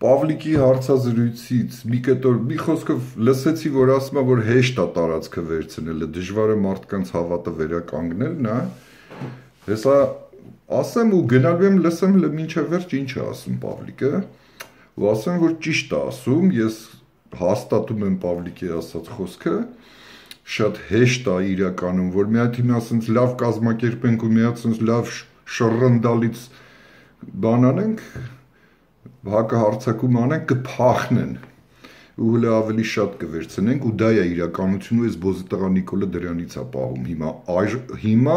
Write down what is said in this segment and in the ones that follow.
Պավլիկի հարցազրույցից մի խոսքով լսեցի, որ ասում է, որ հեշտ է տարածքը վերցնելը, դժվար է մարդկանց հավատը վերականգնելն է, հեսա ասեմ ու գնալու եմ լսեմ մինչև վերջ ինչ է ասում Պավլիկը, ու ասեմ, որ ճիշտ է ասում, ես հաստատում եմ Պավլիկի ասած խոսքը, շատ հեշտ է իրականում, որ մի հատ հիմա ասենց լավ կազմակերպենք ու մի հատ ասենց լավ շռնդալից բան անենք, հակահարձակում անենք, կփախնեն ու հələ ավելի շատ կվերցնենք ու դա է իրականությունը, ես բոզի տղա Նիկոլը դրանից է պահում հիմա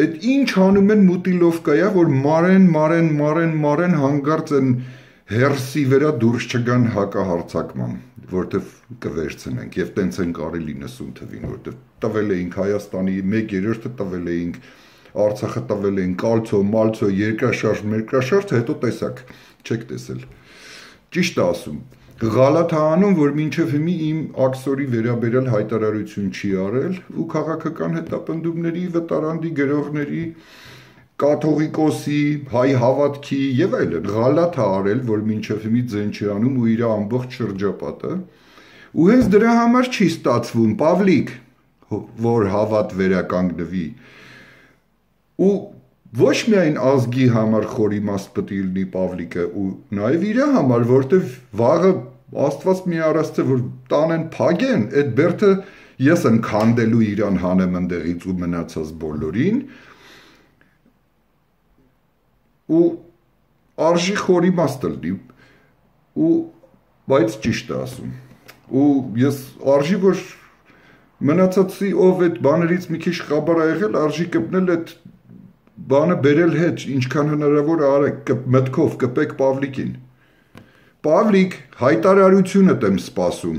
այդ ինչ անում են մուտիլովկայա, որ մարեն հանգարց են հերսի վրա դուրս չգան հակահարձակման, որտեվ կվերցնենք եւ տենց են կարելի 90 թվին, որտեվ տվել էինք Հայաստանի 1/3-ը տվել էինք Արցախը տվել էին կալցո, մալցո, երկրաշարժ, հետո տեսակ, չեք տեսել։ Ճիշտ է ասում, Ղալաթ է անում, որ մինչև հիմի իմ աքսորի վերաբերյալ հայտարարություն չի արել ու քաղաքական հետապնդումների, վտարանդի գրողների, կաթողիկոսի, հայ հավատքի եւ այլն Ղալաթ է արել, որ մինչև հիմի ձեն չի անում ու իր ամբողջ շրջապատը։ Ու հենց դրա համար չի ստացվում, Պավլիկ, որ հավատ վերականգնվի։ Ու ոչ միայն ազգի համար խորիմաստ պետք է լինի Պավլիկը ու նաև իր համար, որտեվ վաղը Աստված մի առաստե որ տանեն փագեն, այդ բերդը ես եմ քանդելու իրան հանեմ ընդեղից ու մնացած բոլորին ու արժի խորիմաստ լինի ու բայց ճիշտ է ասում ու ես արժի որ մնացածի ով այդ բաներից մի քիչ խաբար ա եղել արժի կպնել այդ բանը բերել հետ, ինչքան հնարավոր արեք, մտքով կպեք Պավլիկին։ Պավլիկ, հայտարարությունդ եմ սպասում։